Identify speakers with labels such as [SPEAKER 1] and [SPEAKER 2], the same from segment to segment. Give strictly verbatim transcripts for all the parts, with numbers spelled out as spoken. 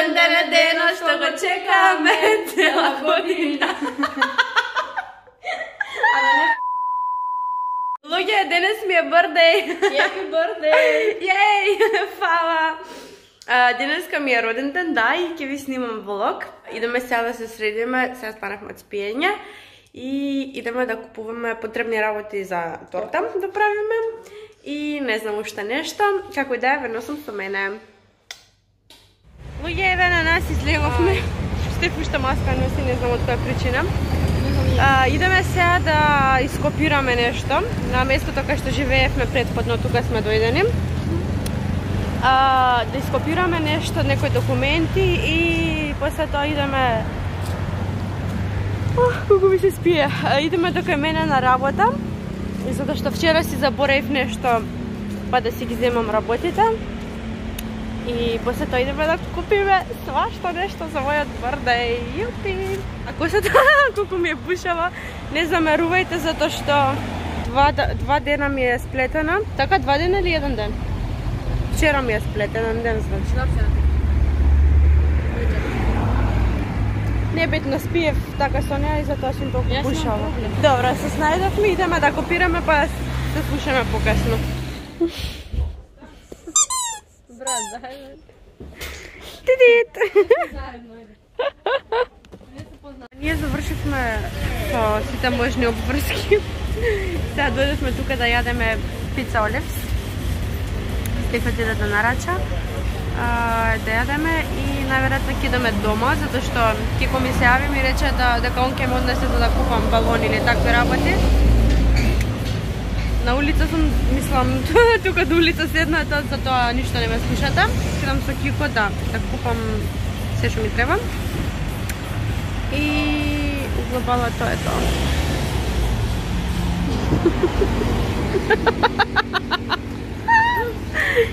[SPEAKER 1] Роден ден е денот што го чекаме цела година. Луѓе, денес ми е birthday.
[SPEAKER 2] Happy birthday.
[SPEAKER 1] Јеј, фала. Денеска ми е роден ден, да, и ќе ви снимам влог. Идеме сега да се средиме, сега станахме од спиење и идеме да купуваме потребни работи за торта да правиме и не знам уште нешто. Како и да е, верно сум со мене. Луѓе, еве на нас излеговме. Стеф уште маска носи, не знам од која причина. А, идеме сега да ископираме нешто на местото кај што живеевме претходно, тука сме дојдени. А, да ископираме нешто, некои документи и после тоа идеме... Ох, колку ми се спие. А, идеме до кај мене на работа, затоа што вчера си заборев нешто, па да си ги земам работите. И после тоа идеме да купиме свашто нешто за мојот birthday. Јупи! Ако се тоа, колку ми е пушава, не замерувајте затоа што два, два дена ми е сплетена. Така, два дена или еден ден? Вчера ми е сплетен ден, значи. Не битно, спиев така со неа и затоа сум толку пушава. Добро, се снајдовме, идеме да копираме, па се слушаме покасно.
[SPEAKER 2] Брат, заедно.
[SPEAKER 1] Тидит!
[SPEAKER 2] Заедно, иде.
[SPEAKER 1] Ние завршивме со сите можни обврски. Сега дојдовме тука да јадеме пица Олевс. Стефът иде да нарача, да јадеме и најверојатно ќе идеме дома, затоа што Кико ми се јави ми рече да, дека он ќе ме однесе за да купам балони или такви работи. На улица сум, мислам, тука до улица седната, затоа ништо не ме слушате. Седам со Кико да, да купам се што ми треба. И глобално тоа е тоа.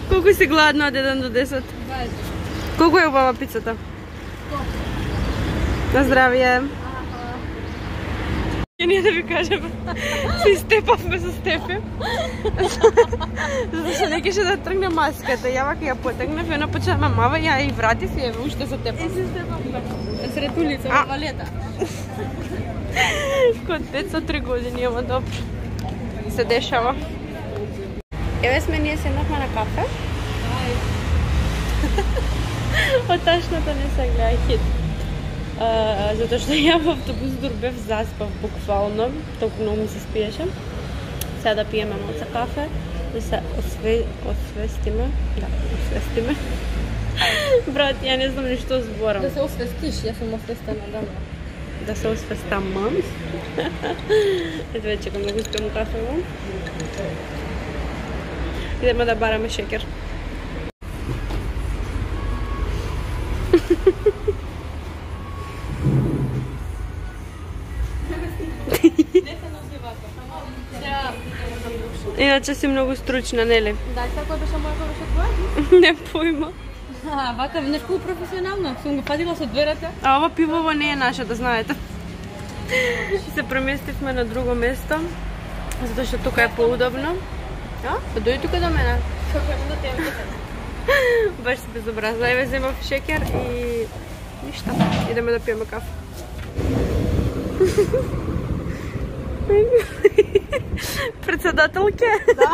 [SPEAKER 1] Колку си гладна од еден до десет?
[SPEAKER 2] дваесет.
[SPEAKER 1] Колку е убава пицата? На здравје. Ќе ние да ви кажеме, си степавме со Стефе. Затоа што не кеше да тргне маската. Ја вака ја потегнев, една почна ме мава, ја и вратив и еве уште се тепам.
[SPEAKER 2] И се степавме. Сред улица, во валета.
[SPEAKER 1] Код деца три години, ама добро. Се дешава. Еве сме, ние седнахме на кафе. Од ташната не се гледа хит. Uh, затоа што ја во автобус дурбев, заспав буквално, толку многу ми се спиеше. Сега да пиеме моца кафе, да се осве... освестиме. Да, освестиме. Брат, ја не знам ништо зборам.
[SPEAKER 2] Да се освестиш, јас сум освестена, да.
[SPEAKER 1] Да се освестам. Ето вече, кога го спием кафе во. Идеме да бараме шекер. Иначе си многу стручна, нели?
[SPEAKER 2] Да, како беше мојата беше твоја?
[SPEAKER 1] Не појма.
[SPEAKER 2] А, вака, нешто професионално, сум го фатила со дверата.
[SPEAKER 1] А ова пивово не е наше, да знаете. Се преместивме на друго место, затоа што тука е поудобно. А? Па дојди тука до мене.
[SPEAKER 2] Како да те јам.
[SPEAKER 1] Баш се безобразна. Еве земав шекер и ништо. Идеме да пиеме кафе. Председателке? Да.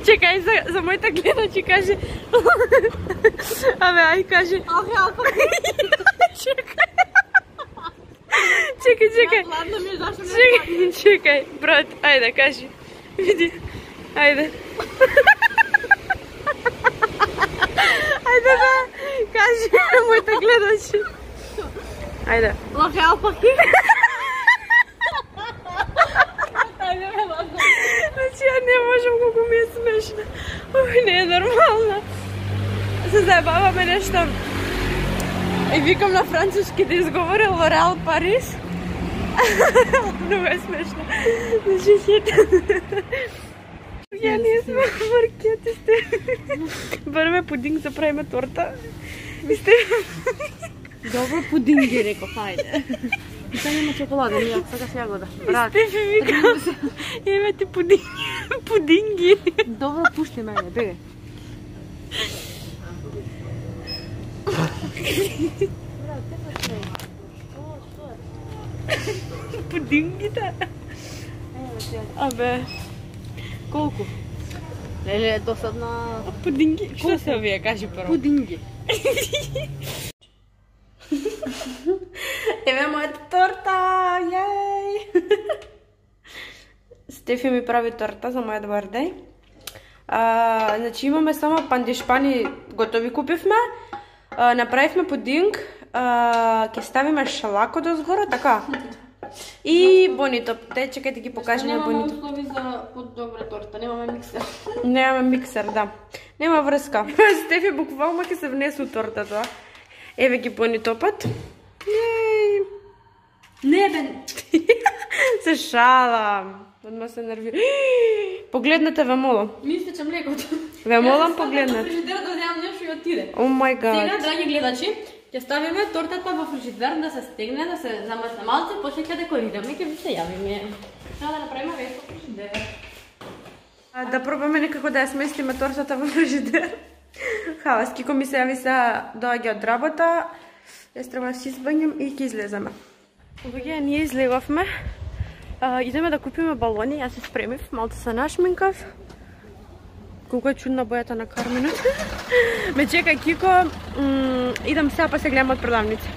[SPEAKER 1] Чекај, за, за мојата гледачи кажи. Абе, ај кажи.
[SPEAKER 2] Ах, алко.
[SPEAKER 1] Чекај. Чекај, чекај.
[SPEAKER 2] Ладно ми е, зашто не
[SPEAKER 1] Чекај, чекај, брат, ајде, кажи. Види, ајде. Ајде да, кажи на моите гледачи. Ајде.
[SPEAKER 2] Лохе алпаки.
[SPEAKER 1] Значи ја не можам, колку ми е смешно. Ух, не е нормално. Се заебаваме нешто. И викам на француски да изговорил Лореал Парис. Много е смешно. Значи хит. Ја не сме маркети сте. Бараме пудинг за правиме торта. И сте...
[SPEAKER 2] Добро пудинги, реков, хајде. И сега нема чоколада, ние сега се ја гледа.
[SPEAKER 1] Брат. Стефи вика, еве ти пудинги. Пудинги.
[SPEAKER 2] Добро, пушти мене, беге.
[SPEAKER 1] Пудингите? Абе, колку?
[SPEAKER 2] Леле, досадна...
[SPEAKER 1] Пудинги? Што се овие, кажи прво?
[SPEAKER 2] Пудинги.
[SPEAKER 1] Еве мојата торта, јеј! Стефи ми прави торта за мојот бардеј. А, значи имаме само пандишпани готови купивме. А, направивме пудинг, а, ќе ставиме шалако дозгоро, така. И бонито. Те чекај да ги покажеме бонито.
[SPEAKER 2] Немаме услови за подобра торта, немаме миксер.
[SPEAKER 1] Немаме миксер, да. Нема врска. Стефи буквално ќе се внесу тортата. Еве ги бонитопат. Јеј!
[SPEAKER 2] Не, бе!
[SPEAKER 1] Се шалам. Одма се нервира. Погледнете, ве молам.
[SPEAKER 2] Ми истече млекото.
[SPEAKER 1] Ве молам, погледнете.
[SPEAKER 2] Фрижидер да земам нешто и отиде.
[SPEAKER 1] О мај гад.
[SPEAKER 2] Сега, драги гледачи, ќе ставиме тортата во фрижидер да се стегне, да се замрсне малце, после ќе декорираме, ќе ви се јавиме. Треба да направиме веќе фрижидер.
[SPEAKER 1] Да пробаме некако да ја сместиме тортата во фрижидер. Халас, Кико ми се јави се доаѓа од работа. Јас треба да си избањам и ќе излеземе. Луѓе, ние излегавме. А, идеме да купиме балони, јас се спремив, малце се нашминкав. Колко е чудна бојата на Карминот. Ме чека Кико, идам сега па се гледам од продавница.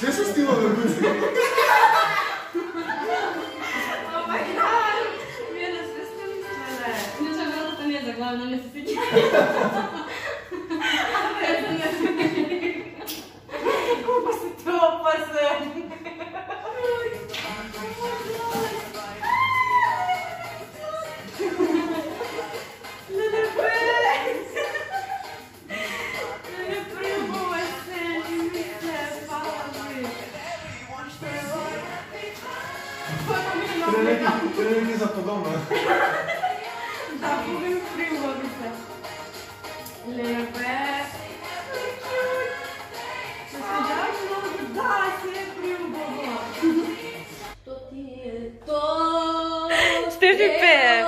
[SPEAKER 3] Sve se stilo da bude.
[SPEAKER 1] Oh my god! Вие не сте сте мислеле.
[SPEAKER 2] Иначе вратата не е заглавена, не се сеќа.
[SPEAKER 1] Колко си ти опасен!
[SPEAKER 3] Тренинги за подобно.
[SPEAKER 1] Да, будем прилови се. Лепе. Се седаш много? Да, се е прилово.
[SPEAKER 2] То ти е то.
[SPEAKER 1] Стефи пее.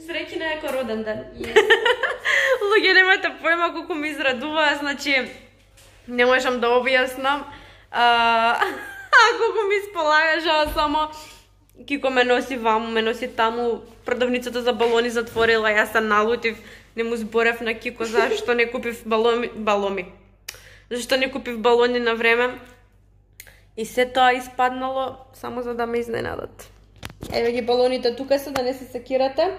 [SPEAKER 1] Среќна е ко роден ден. Луѓе, немате појма колку ми израдува, значи не можам да објаснам. А, колку ми сполагаше, само Кико ме носи ваму, ме носи таму, продавницата за балони затворила, јас се налутив, не му зборев на Кико зашто не купив баломи, баломи. Зашто не купив балони на време. И се тоа испаднало само за да ме изненадат. Еве ги балоните тука се, да не се секирате.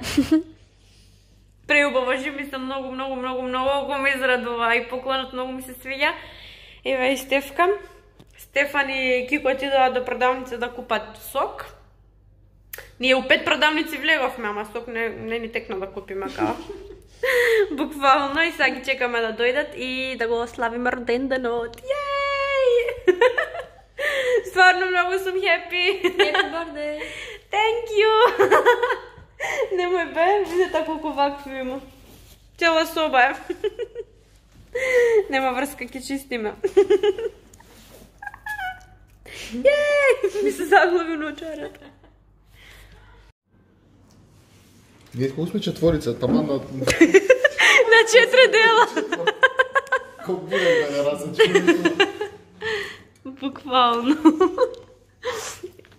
[SPEAKER 1] Преубаво, ми се многу, многу, многу, многу ми израдува и поклонот многу ми се свиѓа. Еве и Стефка. Стефан и Кико отидоа до продавница да купат сок. Ние у пет продавници влеговме, ама сок не, не ни текна да купиме као. Буквално, и сега ги чекаме да дојдат и да го славиме роден денот. Јеј! Стварно многу сум хепи.
[SPEAKER 2] Happy birthday.
[SPEAKER 1] Thank you. Немој бе, видете колку вакви има. Цела соба е. Нема врска, ќе чистиме. Јеј! Ми се заглави ночарата.
[SPEAKER 3] Видите колко сме четворица, тама на...
[SPEAKER 1] На четири дела.
[SPEAKER 3] Колко буде да не различим.
[SPEAKER 1] Буквално.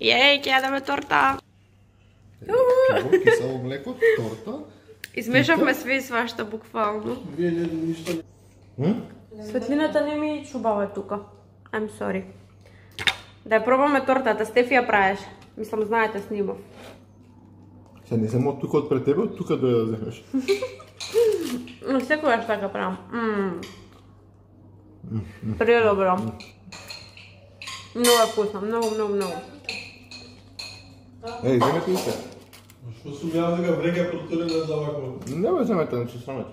[SPEAKER 1] Јеј, ќе јадеме торта.
[SPEAKER 3] Пиво, кисело млеко, торта.
[SPEAKER 1] Измешавме све и свашта, буквално.
[SPEAKER 3] Вие не ништо не...
[SPEAKER 1] Светлината не ми чубава тука. I'm sorry. Да ја пробаме тортата, Стефи ја правиш. Мислам, знаете, снимав.
[SPEAKER 3] Се не само од тука од пред тебе, од тука дојде да земеш.
[SPEAKER 1] Но секогаш така правам. Предобро. Много е вкусно, много, много, много.
[SPEAKER 3] Еј, земете ли се?
[SPEAKER 4] Што сум ја дека вреќа протурена за вако?
[SPEAKER 3] Не бе земете, не се срамете.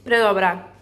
[SPEAKER 1] Предобра.